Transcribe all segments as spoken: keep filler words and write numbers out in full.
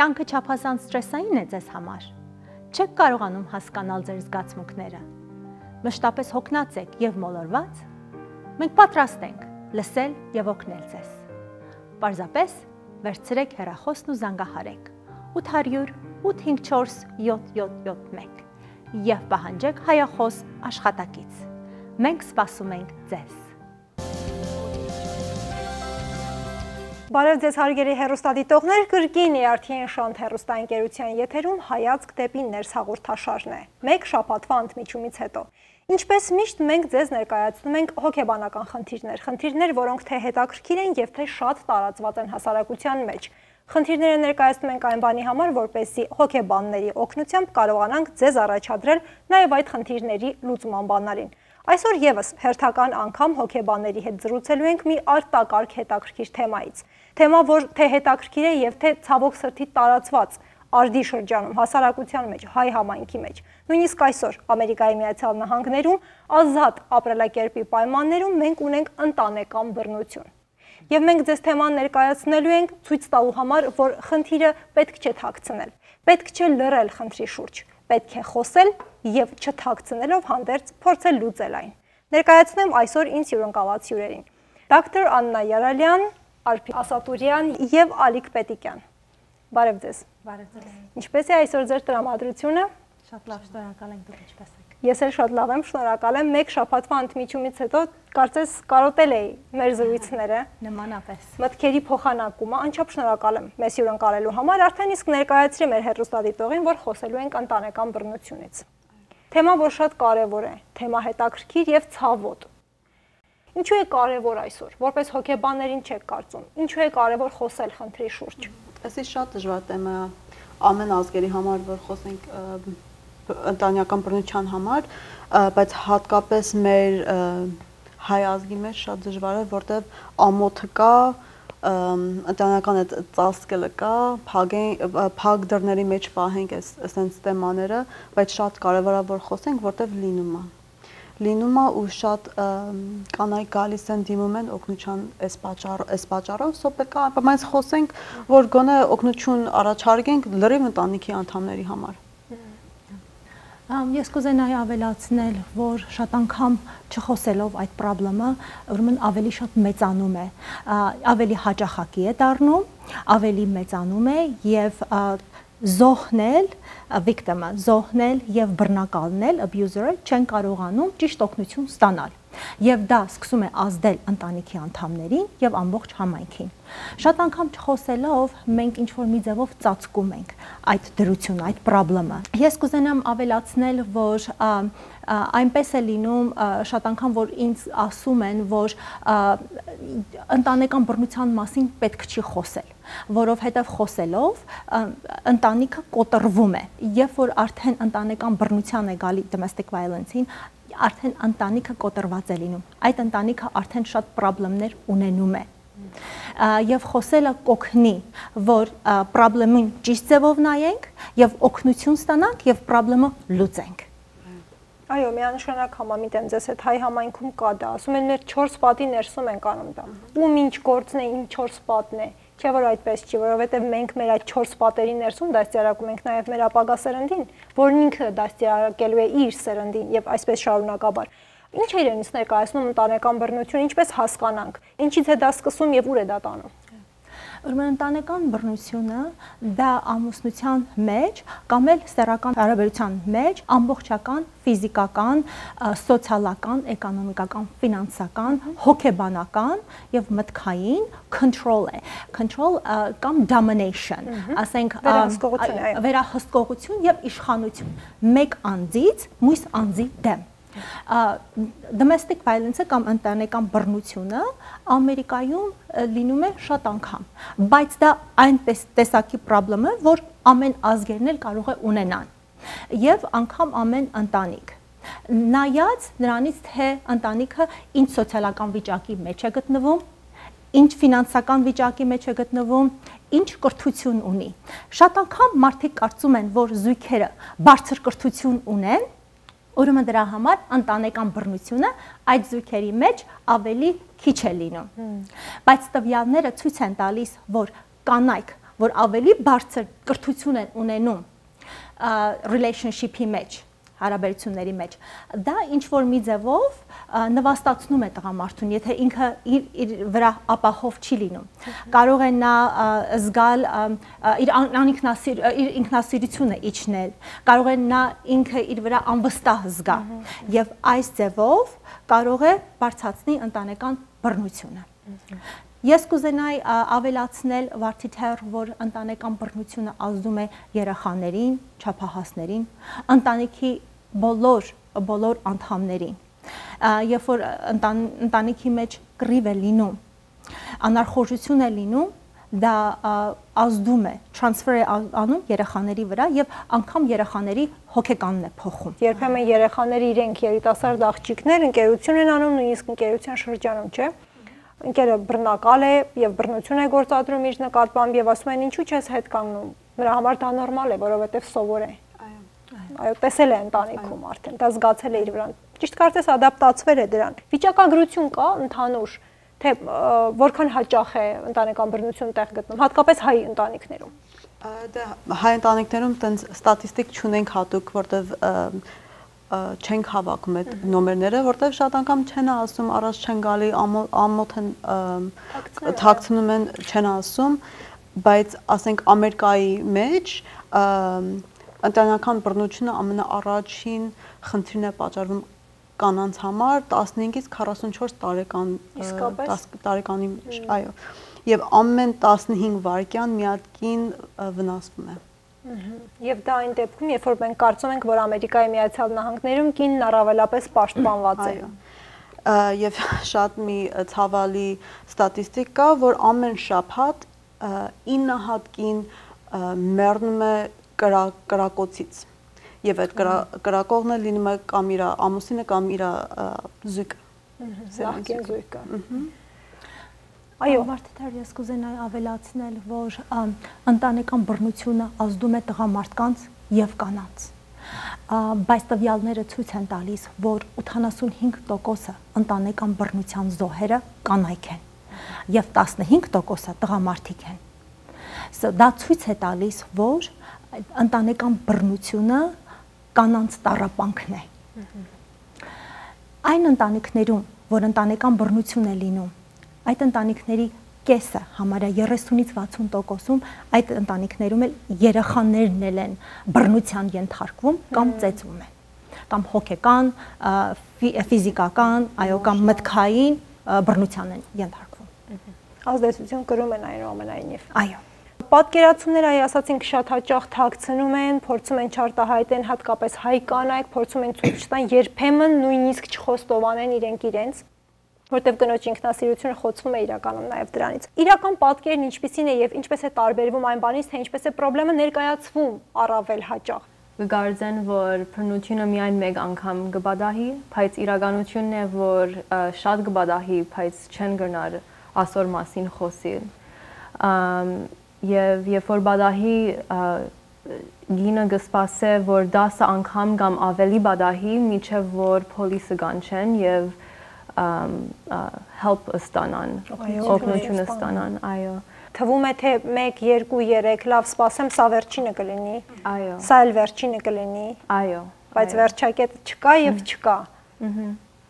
Կյանքը չափազանց ստրեսային է ձեզ համար։ Չեք կարողանում հասկանալ ձեր զգացմունքները։ Մշտապես հոգնած եք եւ մոլորված։ Մենք պատրաստ ենք լսել եւ օգնել ձեզ։ Պարզապես վերցրեք հեռախոսն ու զանգահարեք ութ հարյուր ութ հինգ չորս յոթ յոթ յոթ մեկ եւ պահանջեք հայախոս աշխատակից։ Մենք սպասում ենք ձեզ։ Բարև ձեզ հարգելի հեռուստադիտողներ, կրկին է Ա Ր Թ N Շանթ հեռուստաընկերության եթերում հայացք դեպի ներս հաղորդաշարն է։ Մեկ շաբաթվա ընդմիջումից հետո։ Ինչպես միշտ մենք ձեզ ներկայացնում ենք հոգեբանական խնդիրներ, խնդիրներ, որոնք թե հետաքրքիր են եւ թե շատ տարածված են հասարակության մեջ։ Խնդիրները ներկայացնում ենք այն բանի համար, որպեսզի հոգեբանների օգնությամբ կարողանանք ձեզ առաջադրել նաեւ այդ խնդիրների լուծման բանալին։ Այսօր եւս հերթական անգամ հոգեբանների հետ զրուցելու ենք մի արտակարգ հետաքրքիր թեմայից։ Թեմա, որ թե հետաքրքիր է եւ թե ցավոք սրտի տարածված արդի շրջանում, հասարակության մեջ, հայ համայնքի մեջ։ Նույնիսկ այսօր Ամերիկայի Միացյալ Նահանգներում ազատ ապրելակերպի պայմաններում մենք ունենք ընտանեկան բռնություն։ Եվ մենք ձեզ թեման ներկայացնելու ենք ցույց տալու համար, որ խնդիրը պետք չէ թաքցնել, պետք չէ լռել խնդրի շուրջ, պետք է խոսել եւ չթաքցնելով հանդերձ փորձել լուծել այն։ Ներկայացնեմ այսօր ինձ հյուրընկալած հյուրերին։ Դոկտոր Աննա Յարալյան, Արփի Ասատուրյան եւ Ալիկ Պետիկյան։ Բարև ձեզ։ Բարև ձեզ։ Ինչպես է այսօր ձեր տրամադրությունը։ Շատ լավ, շնորհակալ ենք, դուք ինչպես եք։ Ես էլ շատ լավ եմ, շնորհակալ եմ։ Մեկ շաբաթվա ընդմիջումից հետո կարծես կարոտել էի մեր զրույցները։ Նմանապես։ Մտքերի փոխանակումը, անչափ շնորհակալ եմ մեզ հյուրընկալելու համար, արդեն իսկ ներկայացրի մեր հեռուստադիտողին, որ խոսելու ենք ընտանեկան բռնությունից։ Թեմա, որ շատ կարևոր է, թեմա հետաքրքիր եւ ցավոտ։ Ինչու է կարևոր այսօր, որպես հոգեբաններին չեք կարծում, ինչու է կարևոր խոսել խնդրի շուրջ։ Այսի շատ դժվար թեմա ամեն ազգերի համար, որ խոսենք ընտանեկան բռնության համար, բայց հատկապես մեր հայ ազգի մեջ շատ դժվար է, որտեղ ամոթը կա, ընտանեկան այդ ծածկելը կա, փակ դռների մեջ պահենք այսպես թեմաները, բայց շատ կարևոր է որ խոսենք, որտեղ լինում է։ Լինում է ու շատ կանայք գալիս են դիմում են օգնության այս պատճառով, այս պատճառով, սո պետք է բայց խոսենք, որ գոնե օգնություն առաջարկենք լրիվ ընտանիքի անդամների համար։ Ես կուզենայի ավելացնել, որ շատ անգամ չխոսելով այդ խնդրը, ուրեմն ավելի շատ մեծանում է, ավելի հաճախակի է դառնում, ավելի մեծանում է եւ զոհնել victim-ը, զոհնել եւ բռնակալնել abuser-ը չեն կարողանում ճիշտ օգնություն ստանալ։ Եվ դա սկսում է ազդել ընտանիքի անդամներին եւ ամբողջ համայնքին։ Շատ անգամ չխոսելով մենք ինչ որ մի ձևով ծածկում ենք այդ դրությունը, այդ խնդրը։ Ես կուզենամ ավելացնել, որ այնպես է լինում շատ անգամ, որ ինձ ասում են, որ ընտանեկան բռնության մասին պետք չի խոսել, որովհետև խոսելով ընտանիքը կոտրվում է, երբ որ արդեն ընտանեկան բռնության է գալի domestic violence-ին, արդեն ընտանիքը կոտրված է լինում, այդ ընտանիքը արդեն շատ խնդիրներ ունենում է։ Եվ խոսելը կօգնի, որ խնդրին ճիշտ ձևով նայենք եւ օգնություն ստանանք եւ խնդրը լուծենք։ Այո, միանշանակ համամիտ եմ ձեզ հետ, հայ համայնքում կա դա, ասում են մեր չորս պատի ներսում ենք անում դա։ Ում ինչ գործն է, իմ չորս պատն է։ Չէ՞ որ այդպես չի, որովհետև մենք մեր այդ չորս պատերի ներսում դաստիարակում ենք նաև մեր ապագա սերնդին, որն ինքը դաստիարակելու է իր սերնդին եւ այսպես շարունակաբար։ Ինչ է իրենից ներկայացնում ընտանեկան բռնություն, ինչպես հասկանանք, ինչից է դա սկսում եւ ուր է դա տանում։ Ուրեմն ընտանեկան բռնությունը դա ամուսնության մեջ կամ էլ սեռական հարաբերության մեջ ամբողջական ֆիզիկական, սոցիալական, էկոնոմիկական, ֆինանսական, հոգեբանական եւ մտքային control է։ Control կամ domination, ասենք վերահսկողություն եւ իշխանություն մեկ անձից մյուս անձի դեմ։ Domestic violence-ը կամ ընտանեկան բռնությունը Ամերիկայում լինում է շատ անգամ, բայց դա այն տեսակի խնդրեմ է, որ ամեն ազգերն էլ կարող է ունենան եւ անգամ ամեն ընտանիք։ Նայած նրանից, թե ընտանիքը ինչ սոցիալական վիճակի մեջ է գտնվում, ինչ ֆինանսական վիճակի մեջ է գտնվում, ինչ կրթություն ունի։ Շատ անգամ մարդիկ կարծում են, որ զույգերը բարձր կրթություն ունեն, ուրեմն դրա համար ընտանեկան բռնությունը այդ զույգերի մեջ ավելի քիչ է լինում։ Բայց տվյալները ցույց են տալիս, որ կանայք, որ ավելի բարձր կրթություն են ունենում relationship-ի մեջ, հարաբերությունների մեջ, դա ինչ որ մի ձևով նվաստացնում է տղամարդուն, եթե ինքը իր, իր վրա ապահով չի լինում։ Կարող է նա զգալ իր անինքնասիր, իր ինքնասիրությունը իջնել, կարող է նա ինքը իր վրա անվստահ զգա, եւ այս ձևով կարող է բարձրացնել ընտանեկան բռնությունը։ Ես կուզենայի ավելացնել Վարդի թեր, որ ընտանեկան բռնությունը ազդում է երեխաներին, չափահասներին, ընտանիքի բոլոր բոլոր անդամներին։ Երբ որ ընտանիքի մեջ կռիվ է լինում, անարխորժություն է լինում, դա ազդում է, transfer է անում երեխաների վրա եւ անգամ երեխաների հոգեկանն է փոխում։ Երբեմն երեխաները իրենք երիտասարդ աղջիկներ ընկերություն են անում, նույնիսկ ընկերության շրջանում, չէ՞։ Ընկերը բռնակալ է եւ բռնություն է գործադրում իր նկատմամբ եւ ասում են ինչու՞ չես հետ կանգնում։ Նրա համար դա նորմալ է, որովհետեւ սովոր է։ Այո, տեսել է ընտանիքում արդեն, դա զգացել է իր վրան։ Ճիշտ կարծես ադապտացվել է դրան։ Վիճակագրություն կա ընդհանուր, թե որքան հաճախ է ընտանեկան բռնություն տեղ գտնում, հատկապես հայ ընտանիքներում։ Դա հայ ընտանիքներում տենց ստատիստիկ չունենք հատուկ, որտեվ չենք հավաքում այդ նոմերները, որտեվ շատ անգամ չեն ասում, առաջ չեն գալի, ամոթ են թաքցնում են, չեն ասում, բայց ասենք Ամերիկայի մեջ ընտանեկան բռնությունը ամենաառաջին խնդիրն է պատճառվում կանանց համար տասնհինգից քառասունչորս տարեկան տարեկանի մեջ, այո, եւ ամեն տասնհինգ վայրկյան մի հատ կին վնասվում է։ Եվ դա այն դեպքում, երբ որ մենք կարծում ենք, որ Ամերիկայի Միացյալ Նահանգներում կինն առավելապես պաշտպանված է։ Եվ շատ մի ցավալի ստատիստիկ կա, որ ամեն շաբաթ ինը հատ կին մեռնում է կրակոցից եւ այդ կրակողը լինում է կամ իր ամուսինը կամ իր զույգը, նախկին զույգը։ Այո, Վարդի թեր, ես կուզենայի ավելացնել, որ ընտանեկան բռնությունը ազդում է տղամարդկանց եւ կանանց։ Բայց տվյալները ցույց են տալիս, որ ութանասունհինգ տոկոսը ընտանեկան բռնության զոհերը կանայք են եւ տասնհինգ տոկոսը տղամարդիկ են։ Դա ցույց է տալիս, որ ընտանեկան բռնությունը կանանց տառապանքն է։ Այն ընտանիքներում, որ ընտանեկան բռնություն է լինում, այդ ընտանիքների կեսը, համարյա երեսունից վաթսուն տոկոսում, այդ ընտանիքներում էլ երեխաներն էլ են բռնության ենթարկվում կամ ծեծվում են, կամ հոգեկան, ֆիզիկական, այո, կամ մտքային բռնության են ենթարկվում։ Ազդեցություն կրում են այնուամենայնիվ։ Այո։ Պատկերացումները, այ ասացինք, շատ հաճախ թաքցնում են, փորձում են չարտահայտեն, հատկապես հայ կանայք, փորձում են ցույց տան, երբեմն նույնիսկ չխոստովանեն իրենք իրենց, որտեղ կնոջ ինքնասիրությունը խոցվում է իրականում նաև դրանից։ Իրական պատկերն ինչպիսին է եւ ինչպես է տարբերվում այն բանից, թե ինչպես է խնդրեմը ներկայացվում առավել հաճախ։ Կգարձեն, որ բռնությունը միայն մեկ անգամ կբադահի, բայց իրականությունն է, որ շատ կբադահի, բայց չեն գնար ասոր մասին խոսել։ Եվ երբ որ բադահի գինը կսպասե, որ դասը անգամ կամ ավելի բադահի, միջև որ պոլիսը կանչեն եւ help ստանան, օգնություն ստանան, այո։ Թվում է, թե մեկ, երկու, երեք, լավ, սպասեմ, սա վերջինը կլինի։ Այո։ Սա էլ վերջինը կլինի։ Այո։ Բայց վերջակետը չկա եւ չկա։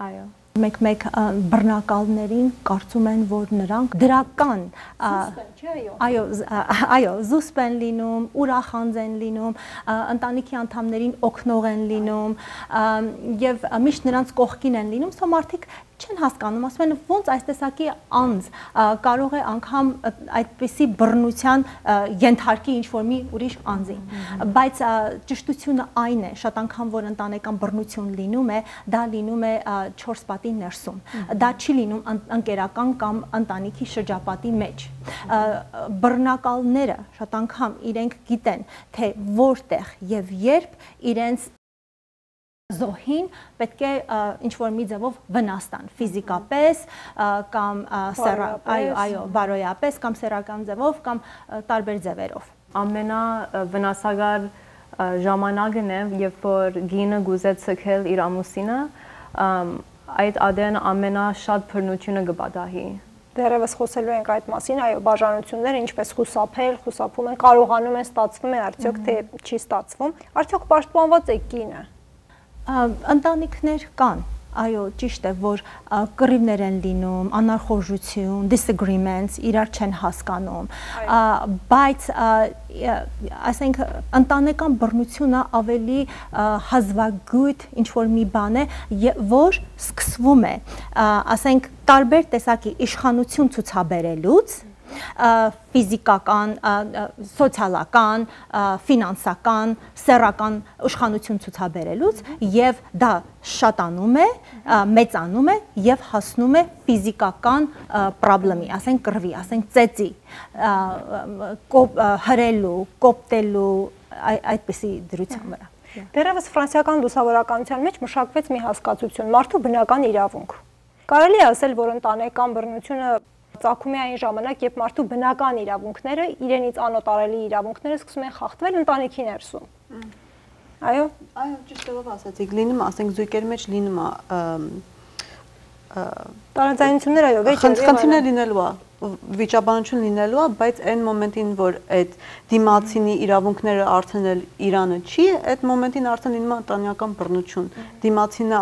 Այո։ Մեկ-մեկ բռնակալներին կարծում են, որ նրանք դրական, այո, այո, զուսպ են լինում, ուրախանձ են լինում, ընտանիքի անդամներին օգնող են լինում եւ միշտ նրանց կողքին են լինում, սա մարդիկ չեն հասկանում, ասում են ոնց այս տեսակի անձ կարող է անգամ այդպիսի բռնության ենթարկի ինչ-որ մի ուրիշ անձին, բայց ճշտությունը այն է, շատ անգամ որ ընտանեկան բռնություն լինում է, դա լինում է չորս պատի ներսում, դա չի լինում ընկերական կամ ընտանիքի շրջապատի մեջ, բռնակալները շատ անգամ իրենք գիտեն, թե որտեղ եւ երբ իրենց զոհին պետք է ինչ-որ մի ձևով վնաս տան, ֆիզիկապես կամ այո, այո, բարոյապես կամ սեռական ձևով կամ տարբեր ձևերով։ Ամենավնասակար ժամանակն է, երբ որ գինը գուզե ցկել իր ամուսինը, այդ ադեն ամենաշատ բռնությունը կբադահի։ դեռևս խոսելու ենք այդ մասին, այո, բաժանությունները ինչպես խուսափել, խուսափում են, կարողանում են, ստացվում է, արդյոք թե չի ստացվում, արդյոք պաշտպանված է կինը։ Ընտանիքներ կան, այո, ճիշտ է, որ կռիվներ են լինում, անարխորժություն, disagreements, իրար չեն հասկանում, բայց ասենք ընտանեկան բռնությունը ավելի հազվագյուտ ինչ-որ մի բան է, որ սկսվում է, ասենք տարբեր տեսակի իշխանություն ցուցաբերելուց, ֆիզիկական, սոցիալական, ֆինանսական, սեռական իշխանություն ցուցաբերելուց եւ դա շատանում է, մեծանում է եւ հասնում է ֆիզիկական խնդրի, ասենք կռվի, ասենք ծեծի, հրելու, կոպտելու այդպիսի դրության վրա։ Դեռևս ֆրանսիական լուսավորականության մեջ մշակվեց մի հասկացություն՝ մարդու բնական իրավունք։ Կարելի է ասել, որ ընտանեկան բռնությունը ծագում է այն ժամանակ, երբ մարդու բնական իրավունքները, իրենից անօտարելի իրավունքները սկսում են խախտվել ընտանիքի ներսում։ Այո, այո, ճիշտով ասացիք, լինում է, ասենք զույգերի մեջ լինում է տարաձայնություններ, այո, վեճեր, խնդիրներ լինելու է, վիճաբանություն լինելու է, բայց այն մոմենտին, որ այդ դիմացինի իրավունքները արդեն էլ Իրանը չի, այդ մոմենտին արդեն լինում է ընտանեկան բռնություն։ Դիմացինը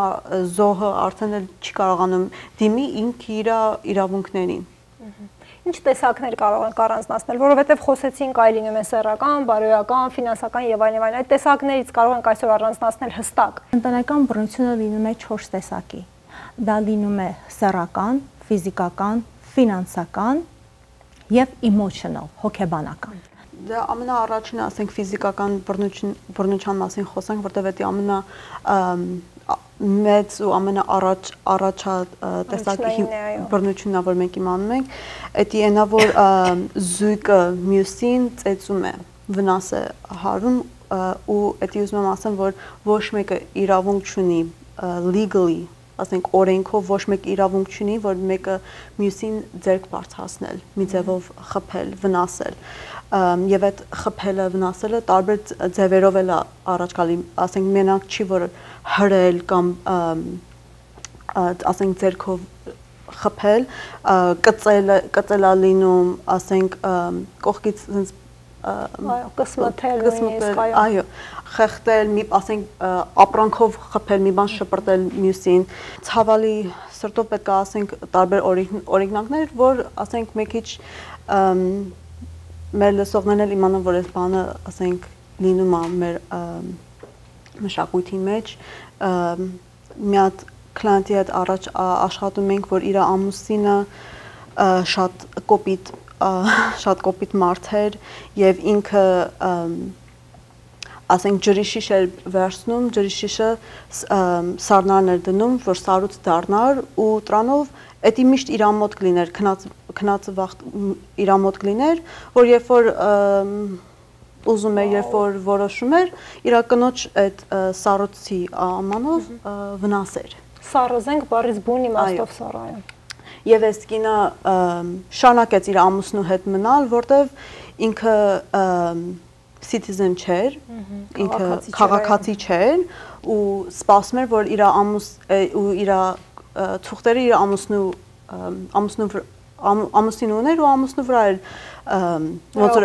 զոհը արդեն էլ չի կարողանում դիմի ինքը իր իրավունքներին։ Ինչ տեսակներ կարող ենք առանձնացնել, որովհետև խոսեցինք այ լինում է սեռական, բարոյական, ֆինանսական եւ այլն եւ այլն, այդ տեսակներից կարող ենք այսօր առանձնացնել հստակ։ Ընտանեկան բռնությունը լինում է չորս տեսակի։ Դա լինում է սեռական, ֆիզիկական, ֆինանսական եւ emotional, հոգեբանական։ Դա ամենաառաջինը, ասենք ֆիզիկական բռնություն բռնության մասին խոսանք, որտեղ դա ամենա մեծ ու ամենաառաջ առաջա տեսակի բռնությունն է, որ մենք իմանում ենք, դա այնա որ զույգը մյուսին ծեծում է, վնաս է հարում ու դա ուզում եմ ասեմ, որ ոչ մեկը իրավունք չունի legally, ասենք օրենքով ոչ մեկ իրավունք չունի, որ մեկը մյուսին ձեռք բարձրացնել, մի ձևով խփել, վնասել։ Եվ այդ խփելը, վնասելը տարբեր ձևերով էլ առաջ գալի, ասենք մենակ չի, որ հրել կամ ասենք ձեռքով խփել, կծել, կծելա լինում, ասենք կողքից sense կսմթել, այո, խեղդել, մի ասենք ապրանքով խփել, մի բան շպրտել մյուսին, ցավալի սրտով պետք է ասենք տարբեր օրինակներ, որ ասենք մի քիչ մեր լսողներն էլ իմանան, որ այս բանը ասենք լինում է մեր մշակույթի մեջ, մի հատ կլիենտի հետ առաջ աշխատում ենք, որ իր ամուսինը շատ կոպիտ շատ կոպիտ մարդ էր եւ ինքը ասենք ջրի շիշ էր վերցնում, ջրի շիշը սառնարն էր դնում, որ սառուց դառնար ու տրանով դա միշտ իր մոտ կլիներ, քնածը վաղ իր մոտ կլիներ, որ երբ որ ուզում էր, երբ որ որոշում էր, իր կնոջ այդ սառուցի ամանով վնասեր։ Սառոզենք բառից բուն իմաստով սառայում։ Եվ այս կինը շարունակեց իր ամուսնու հետ մնալ, որտեվ ինքը citizen չէր, ինքը քաղաքացի չէր ու սպասում էր, որ իր ամուս ու իր թուղթերը իր ամուսնու ամուսնու ամուսին ուներ ու ամուսնու վրա էր ոնց որ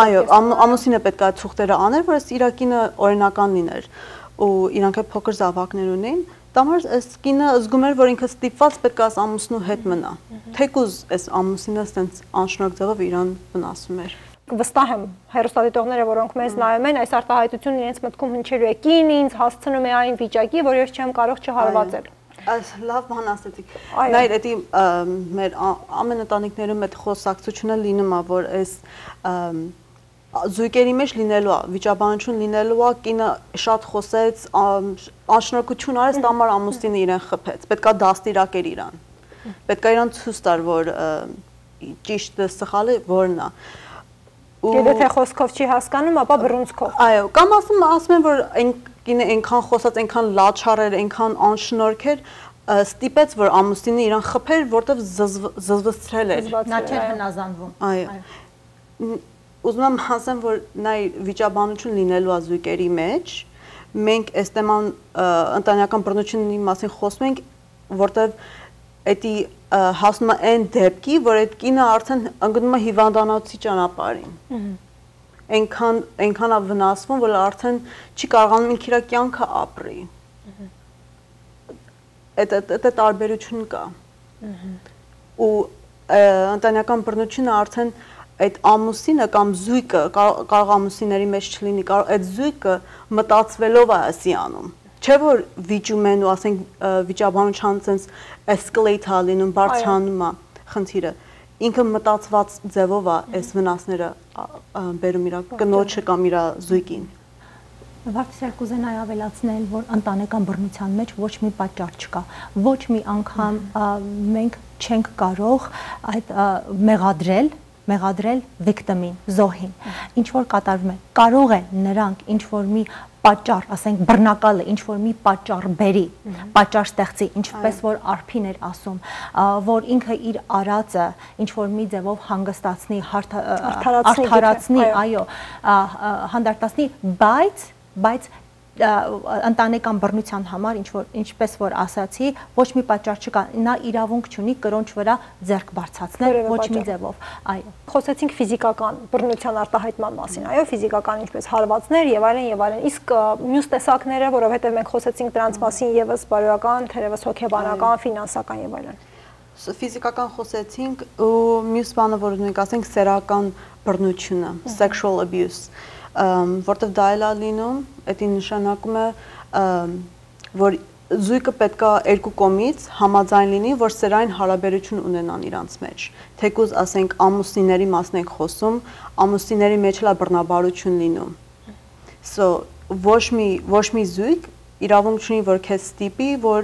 այո, ամուսինը պետք է թուղթերը աներ, որ այս իր կինը օրինական լիներ ու իրանք փոքր զավակներ ունեն։ Դամար այս կինը զգում էր, որ ինքը ստիպված պետք է այս ամուսնու հետ մնա։ Թեկուզ այս ամուսինը sense անշնորհ ձևով իրան վնասում էր։ Վստահ եմ, հեռուստադիտողները, որոնք մեզ նայում են, այս արտահայտությունն իրենց մտքում հնչելու է կին ինձ հասցնում է այն վիճակի, որ ես չեմ կարող չհարվածել։ Այս լավ բան ասեցիք։ Նայր, դա մեր ամեն ընտանիքներում այդ խոսակցությունը լինում է, որ այս զույգերի մեջ լինելու է, վիճաբանություն լինելու է, կինը շատ խոսեց, անշնորհքություն արեց, դամար ամուսինը իրեն խփեց, պետքա դաստիարակեր իրան։ Պետքա իրան ցույց տար, որ ճիշտը սխալը որն է։ Եվ եթե խոսքով չի հասկանում, ապա բռունցքով։ Այո, կամ ասում ասում են, որ այն կինը այնքան խոսած, այնքան լաչար էր, այնքան անշնորհք էր, ստիպեց, որ ամուսինը իրան խփեր, որտեվ զզվացրել էր։ Նա չէր հնազանդվում։ Այո։ Ուզում եմ ասեմ, որ նա վիճաբանություն լինելու է զույգերի մեջ, մենք այս թեման ընտանեկան բռնությունների մասին խոսում ենք, որտեվ էդի հասնում է այն դեպքի, որ այդ կինը արդեն ընկնում է հիվանդանոցի ճանապարհին։ Այնքան այնքան է վնասվում, որ արդեն չի կարողանում ինքն իր կյանքը ապրի։ Այդ այդ տարբերություն կա։ Ու ընտանեկան բռնությունը արդեն այդ ամուսինը կամ զույգը կարող ամուսինների մեջ չլինի, կարող այդ զույգը մտածվելով է ասի անում։ Չէ որ վիճում են ու ասենք վիճաբանության sense escalate է լինում, բարձրանում է խնդիրը։ Ինքը մտածված ձևով է այս վնասները բերում իր կնոջը կամ իր զույգին։ Վարդիսել կուզենայի ավելացնել, որ ընտանեկան բռնության մեջ ոչ մի պատճառ չկա, ոչ մի անգամ մենք չենք կարող այդ մեղադրել, մեղադրել victim-ին, զոհին, ինչ որ կատարվում է, կարող է նրանք ինչ որ մի պատճառ, ասենք բռնակալը ինչ որ մի պատճառ բերի, պատճառ ստեղծի, ինչպես որ Արփին էր ասում, որ ինքը իր արածը ինչ որ մի ձևով հանգստացնի, արդարացնի, այո, հանդարտացնի, բայց բայց ընտանեկան բռնության համար ինչ որ ինչպես որ ասացի, ոչ մի պատճառ չկա, նա իրավունք չունի կրոնջ վրա ձեռք բարձրացնել ոչ մի ձևով, այո։ Խոսեցինք ֆիզիկական բռնության արտահայտման մասին, այո, ֆիզիկական ինչպես հարվածներ եւ այլն եւ այլն, իսկ մյուս տեսակները, որովհետեւ մենք խոսեցինք դրանց մասին եւս բարոյական, թերևս հոգեբանական, ֆինանսական եւ այլն։ Ֆիզիկական խոսեցինք ու մյուս բանը, որ մենք ասենք սեռական բռնությունը, sexual abuse, որտեղ դա էլ է լինում, դա նշանակում է, որ զույգը պետք է երկու կողմից համաձայն լինի, որ սերային հարաբերություն ունենան իրանց մեջ։ Թեկուզ ասենք ամուսինների մասն ենք խոսում, ամուսինների մեջ էլ է բռնաբարություն լինում։ So ոչ մի ոչ մի զույգ իրավունք չունի, որ քեզ ստիպի, որ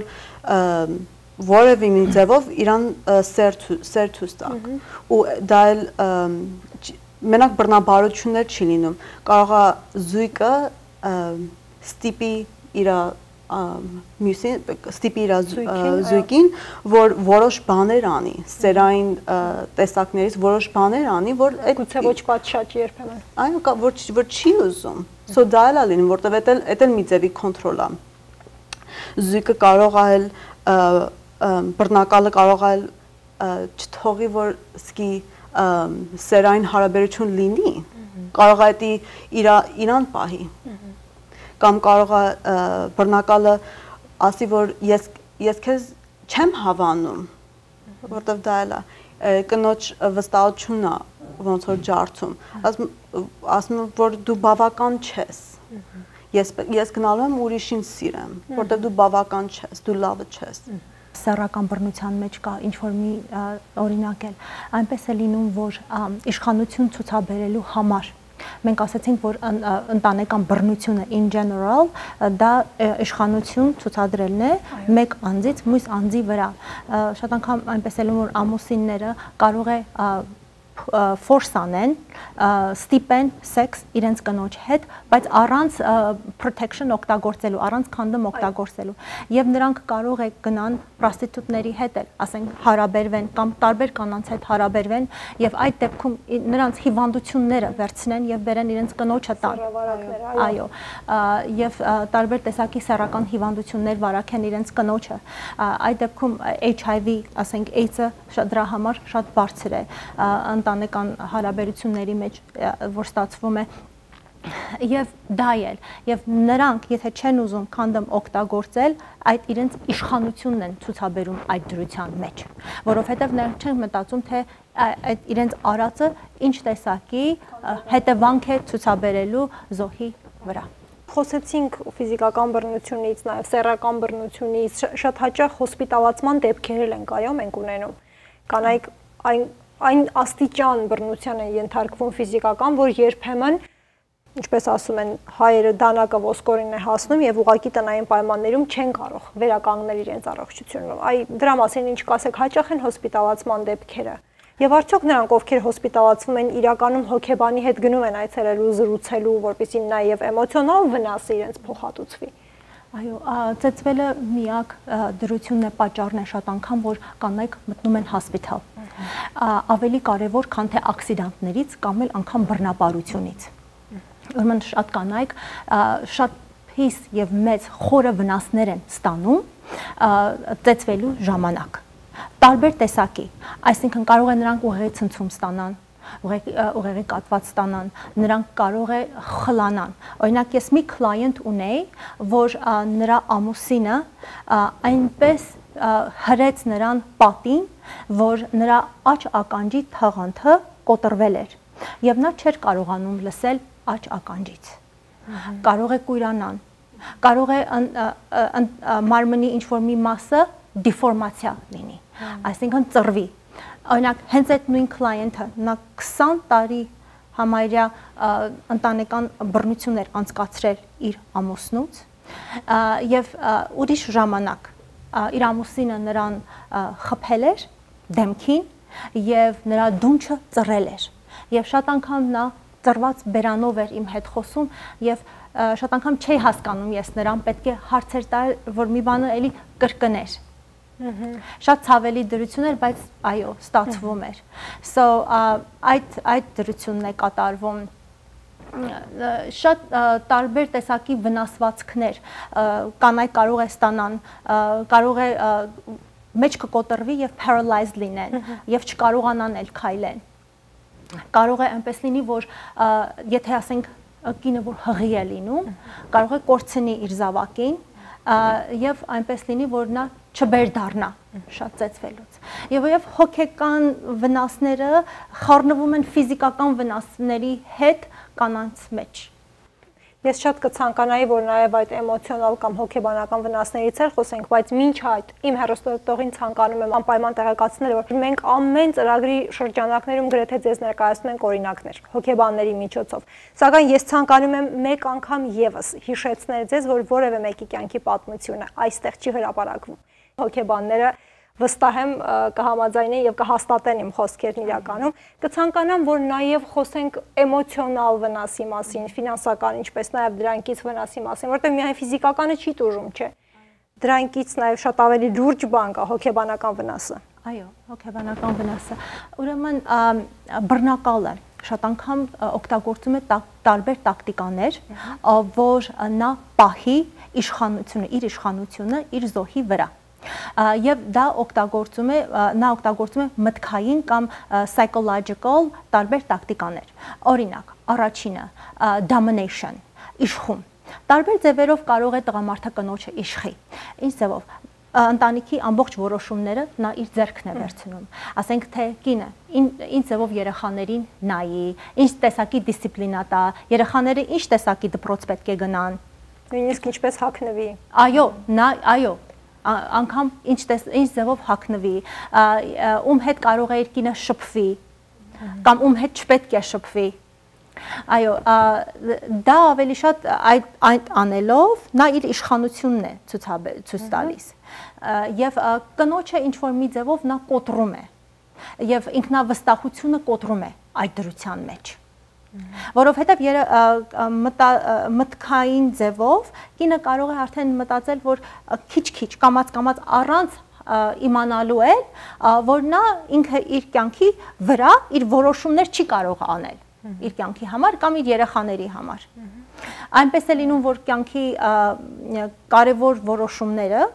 որևէ մի ձևով իրան սերթուս տակ։ Ու դա էլ մենակ բռնաբարություններ չի լինում, կարող է զույգը ստիպի իր մյուսին, ստիպի իր զույգին, որ որոշ բաներ անի, սերային տեսակներից որոշ բաներ անի, որ գուցե ոչ պատշաճ երբեմն։ Այո, որ որ չի ուզում։ So դա էլ է լինում, որտեղ դա էլ մի ձևի կոնտրոլ է։ Զույգը կարող է բռնակալը կարող է չթողի, որ սկի սերային հարաբերություն լինի, կարող է դա իրան պահի, կամ կարող է բռնակալը ասի, որ ես քեզ չեմ հավանում, որտեղ դա էլ է, կնոջ վստահությունն է ոնց որ ջարդում, ասում որ դու բավական չես, ես գնալու եմ ուրիշին սիրեմ, որտեղ դու բավական չես, դու լավը չես։ Սեռական բռնության մեջ կա ինչ որ մի օրինակ էլ այնպես է լինում, որ իշխանություն ցուցաբերելու համար մենք ասացինք, որ ընտանեկան բռնությունը in general դա իշխանություն ցուցադրելն է մեկ անձից մյուս անձի վրա։ Շատ անգամ այնպես է լինում, որ ամուսինները կարող է force անեն, ստիպեն սեքս իրենց կնոջ հետ, բայց առանց protection օգտագործելու, առանց condom օգտագործելու, եւ նրանք կարող է գնան պրոստիտուտների հետ էլ, ասենք հարաբերվեն կամ տարբեր կանանց հետ հարաբերվեն եւ այդ դեպքում նրանց հիվանդությունները վերցնեն եւ բերեն իրենց կնոջը տան։ Այո, եւ տարբեր տեսակի սեռական հիվանդություններ վարակեն իրենց կնոջը։ Այդ դեպքում H I V, ասենք AIDS-ը դրա համար շատ բարձր է ընտանեկան հարաբերությունների մեջ, որ ստացվում է եւ դա էլ եւ նրանք եթե չեն ուզում քանդոմ օգտագործել, այդ իրենց իշխանությունն են ցուցաբերում այդ դրության մեջ, որովհետեւ նրանք չեն մտածում, թե այդ իրենց արածը ինչ տեսակի հետևանք է ցուցաբերելու զոհի վրա։ Խոսեցինք ֆիզիկական բռնությունից, նաեւ սեռական բռնությունից, շատ հաճախ հոսպիտալացման դեպքեր են այո մենք ունենում։ Կանայք այն այն աստիճան բռնության են ենթարկվում ֆիզիկական, որ երբեմն, ինչպես ասում են, հայերը դանակը ոսկորին է հասնում եւ ուղակի տնային պայմաններում չեն կարող վերականգնել իրենց առողջությունը։ Այ դրա մասին ինչ կասեք, հաճախ են հոսպիտալացման դեպքերը։ Եվ արդյոք նրանք, ովքեր հոսպիտալացվում են, իրականում հոգեբանի հետ գնում են այցելելու, զրուցելու, որպեսզի նաեւ էմոցիոնալ վնասը իրենց փոխհատուցվի։ Այո, ծեծվելը միակ դրությունն է, պատճառն է շատ անգամ, որ կանայք մտնում են հոսպիտալ։ Ավելի կարևոր, քան թե ակսիդենտներից կամ էլ անգամ բռնաբարությունից։ Ուրեմն շատ կանայք շատ հիս եւ մեծ խորը վնասներ են ստանում ծեծվելու ժամանակ։ տարբեր տեսակի, այսինքն կարող է նրանք ուղեղի ցնցում ստանան, ուղեղի կատված ստանան, նրանք կարող է խլանան։ Օրինակ ես մի կլայենտ ունեի, որ նրա ամուսինը այնպես հրեց նրան պատին, որ նրա աջ ականջի թաղանթը կոտրվել էր եւ նա չէր կարողանում լսել աջ ականջից։ Կարող է կույրանան, կարող է մարմնի ինչ-որ մի մասը դիֆորմացիա լինի, այսինքն ծռվի։ Օրինակ, հենց այդ նույն կլայենտը նա քսան տարի համարյա ընտանեկան բռնություններ անցկացրել իր ամուսնուց եւ ուրիշ ժամանակ իր ամուսինը նրան խփել էր դեմքին եւ նրա դունչը ծռել էր եւ շատ անգամ նա ծռված բերանով էր իմ հետ խոսում եւ շատ անգամ չէի հասկանում ես նրան, պետք է հարցեր տալ, որ մի բանը էլի կրկներ։ Շատ ցավելի դրություն էր, բայց այո, ստացվում էր։ So այդ այդ դրությունն է կատարվում շատ տարբեր տեսակի վնասվածքներ կանայք կարող է ստանան, կարող է մեջքը կոտրվի եւ paralyzed լինեն եւ չկարողանան էլ քայլեն։ Կարող է այնպես լինի, որ եթե ասենք կինը որ հղի է լինում, կարող է կորցնի իր զավակին եւ այնպես լինի, որ նա չբեր դառնա շատ ծեծվելուց։ Եվ եւ հոգեկան վնասները խառնվում են ֆիզիկական վնասների հետ կանանց մեջ։ Ես շատ կցանկանայի, որ նաև այդ էմոցիոնալ կամ հոգեբանական վնասներից էլ խոսենք, բայց մինչ այդ իմ հեռուստատողին ցանկանում եմ անպայման տեղեկացնել, որ մենք ամեն ծրագրի շրջանակներում գրեթե ձեզ ներկայացնում ենք օրինակներ հոգեբանների միջոցով։ Սակայն ես ցանկանում եմ մեկ անգամ եւս հիշեցնել ձեզ, որ որևէ մեկի կյանքի պատմությունը այստեղ չի հրապարակվում։ Հոգեբանները վստահ եմ կհամաձայնեն եւ կհաստատեն իմ խոսքերն իրականում, կցանկանամ, որ նաեւ խոսենք էմոցիոնալ վնասի մասին, ֆինանսական, ինչպես նաեւ դրանքից վնասի մասին, որտեղ միայն ֆիզիկականը չի տուժում, չէ։ Դրանքից նաեւ շատ ավելի լուրջ բան կա հոգեբանական վնասը։ Այո, հոգեբանական վնասը։ Ուրեմն բռնակալը շատ անգամ օգտագործում է տարբեր տակտիկաներ, որ նա պահի իշխանությունը, իր իշխանությունը իր զոհի վրա։ Եվ դա օգտագործում է նա օգտագործում է մտքային կամ psychological տարբեր տակտիկաներ։ Օրինակ, առաջինը domination, իշխում։ Տարբեր ձևերով կարող է տղամարդը կնոջը իշխի։ Ինչ ձևով ընտանիքի ամբողջ որոշումները նա իր ձեռքն է վերցնում։ Ասենք թե կինը ինչ ձևով երեխաներին նայի, ինչ տեսակի դիսցիպլինա տա, երեխաները ինչ տեսակի դպրոց պետք է գնան։ Նույնիսկ ինչպես հագնվի։ Այո, նա այո անգամ ինչ ինչ ձևով հագնվի, ում հետ կարող է իր կինը շփվի, կամ ում հետ չպետք է շփվի։ Այո, դա ավելի շատ այդ այդ անելով նա իր իշխանությունն է ցույց տալիս։ Եվ կնոջը ինչ որ մի ձևով նա կոտրում է։ Եվ ինքնավստահությունը կոտրում է այդ դրության մեջ։ Որովհետև մտքային ձևով կինը կարող է արդեն մտածել, որ քիչ-քիչ կամած-կամած առանց իմանալու է, որ նա ինքը իր կյանքի վրա իր որոշումներ չի կարող անել իր կյանքի համար կամ իր երեխաների համար։ Այնպես է լինում, որ կյանքի կարևոր որոշումները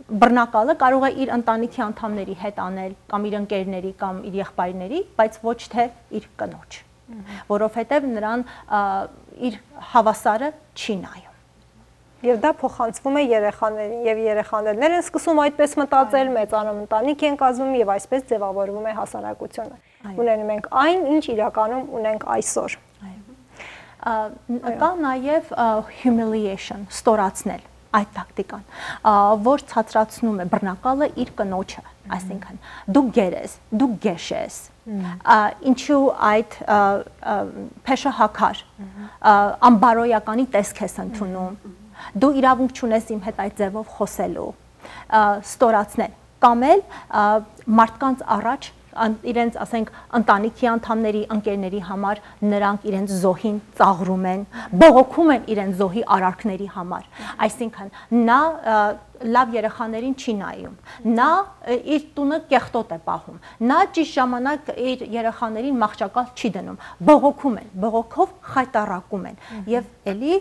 բռնակալը կարող է իր ընտանիքի անդամների հետ անել կամ իր ընկերների կամ իր եղբայրների, բայց ոչ թե իր կնոջ, որովհետև նրան իր հավասարը չի նայում։ Եվ դա փոխանցվում է երեխաներին, եւ երեխաներն են սկսում այդպես մտածել, մեծանում ընտանիք են կազմում եւ այսպես ձևավորվում է հասարակությունը։ Ունենում ենք այն, ինչ իրականում ունենք այսօր։ Կա նաեւ humiliation, ստորացնել այդ տակտիկան, որ ցածրացնում է բռնակալը իր կնոջը, այսինքն դու գերես, դու գեշ ես, ինչու այդ փեշը հակար, ամբարոյականի տեսք ես ընդունում, դու իրավունք չունես իմ հետ այդ ձևով խոսելու, ստորացնել, կամ էլ մարդկանց առաջ իրենց, ասենք, ընտանիքի անդամների, ընկերների համար նրանք իրենց զոհին ծաղրում են, բողոքում են իրենց զոհի արարքների համար։ Այսինքն նա լավ երեխաներին չի նայում, նա իր տունը կեղտոտ է պահում, նա ճիշտ ժամանակ իր երեխաներին մահճակալ չի դնում, բողոքում են, բողոքով խայտառակում են եւ էլի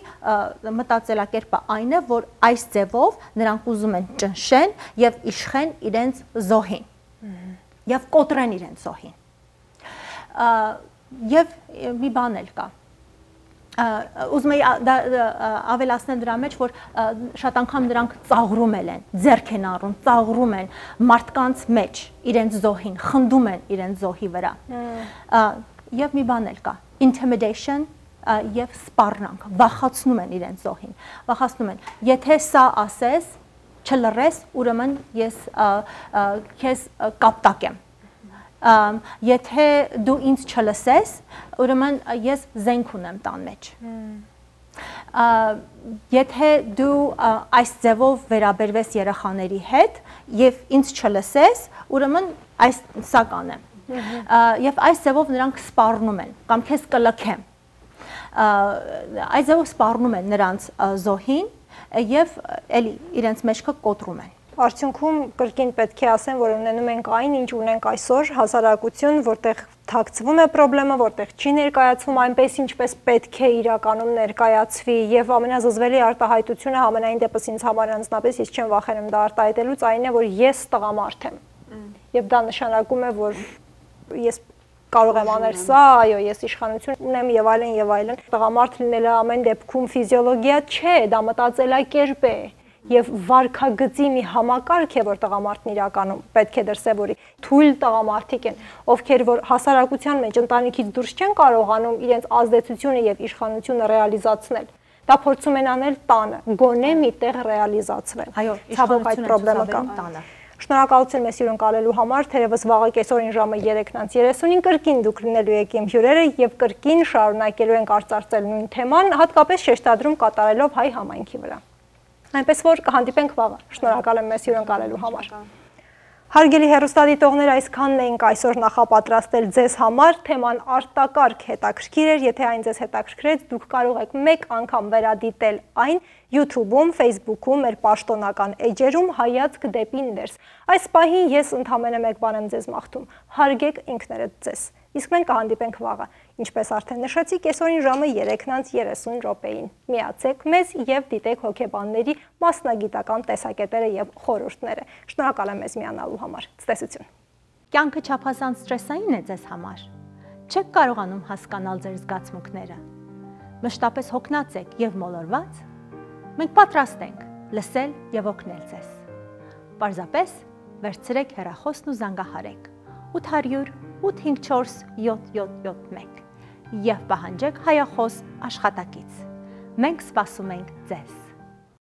մտածելակերպը այն է, որ այս ձևով նրանք ուզում են ճնշեն եւ իշխեն իրենց զոհին եւ կոտրեն իրենց զոհին։ Եվ մի բան էլ կա, ուզում եի ավելացնել դրա մեջ, որ շատ անգամ նրանք ծաղրում են, ձեռք են առնում, ծաղրում են մարդկանց մեջ իրենց զոհին, խնդում են իրենց զոհի վրա։ Եվ մի բան էլ կա, intimidation եւ սպառնանք, վախացնում են իրենց զոհին, վախացնում են, եթե սա ասես, չլռես, ուրեմն ես քեզ կապտակ եմ։ Եթե դու ինձ չլսես, ուրեմն ես զենք ունեմ տան մեջ։ Եթե դու այս ձևով վերաբերվես երեխաների հետ եւ ինձ չլսես, ուրեմն այս սա կանեմ։ Եվ այս ձևով նրանք սպառնում են կամ քեզ կլքեմ։ Այս ձևով սպառնում են նրանց զոհին եւ էլի իրենց մեջքը կոտրում են։ Արդյունքում կրկին պետք է ասեմ, որ ունենում ենք այն, ինչ ունենք այսօր, հասարակություն, որտեղ թաքցվում է խնդրեմը, որտեղ չի ներկայացվում այնպես, ինչպես պետք է իրականում ներկայացվի, եւ ամենազզվելի արտահայտությունը ամենայն դեպս ինձ համար անձնապես ես չեմ վախենում դա արտահայտելուց, այն է, որ ես տղամարդ եմ։ Եվ դա նշանակում է, որ ես կարող եմ անել սա, այո, ես իշխանություն ունեմ եւ այլն եւ այլն։ Տղամարդ լինելը ամեն դեպքում ֆիզիոլոգիա չէ, դա մտածելակերպ է եւ վարքագծի մի համակարգ է, որ տղամարդն իրականում պետք է դրսեւորի։ Թույլ տղամարդիկ են, ովքեր որ հասարակության մեջ ընտանիքից դուրս չեն կարողանում իրենց ազդեցությունը եւ իշխանությունը ռեալիզացնել։ Դա փորձում են անել տանը, գոնե միտեղ ռեալիզացվել։ Այո, ցավոք այդ խնդրեմը կա տանը։ Շնորհակալություն մեզ հյուրընկալելու համար, թերևս վաղը կեսօրին ժամը երեքից երեսունին կրկին դուք լինելու եք իմ հյուրերը եւ կրկին շարունակելու ենք արծարծել նույն թեման, հատկապես շեշտադրում կատարելով հայ համայնքի վրա։ Այնպես որ կհանդիպենք վաղը։ Շնորհակալ եմ մեզ հյուրընկալելու համար։ Հարգելի հեռուստադիտողներ, այսքանն էինք այսօր նախապատրաստել ձեզ համար, թեման արտակարգ հետաքրքիր էր, եթե այն ձեզ հետաքրքրեց, դուք կարող եք մեկ անգամ վերադիտել այն YouTube-ում, Facebook-ում, մեր պաշտոնական էջերում հայացք դեպի ներս։ Այս պահին ես ընդամենը մեկ բան եմ ձեզ մաղթում, հարգեք ինքներդ ձեզ, իսկ մենք կհանդիպենք վաղը, ինչպես արդեն նշեցի, կեսօրին ժամը երեքից երեսուն րոպեին։ Միացեք մեզ եւ դիտեք հոգեբանների մասնագիտական տեսակետերը եւ խորհուրդները։ Շնորհակալ եմ մեզ միանալու համար։ Ցտեսություն։ Կյանքը չափազանց սթրեսային է ձեզ համար։ Չեք կարողանում հասկանալ ձեր զգացմունքները։ Մշտապես հոգնած եք եւ մոլորված։ Մենք պատրաստ ենք լսել եւ օգնել ձեզ։ Պարզապես վերցրեք հեռախոսն ու զանգահարեք ութ հարյուր ութ հինգ չորս յոթ յոթ յոթ մեկ եւ պահանջեք հայախոս աշխատակից։ Մենք սպասում ենք ձեզ։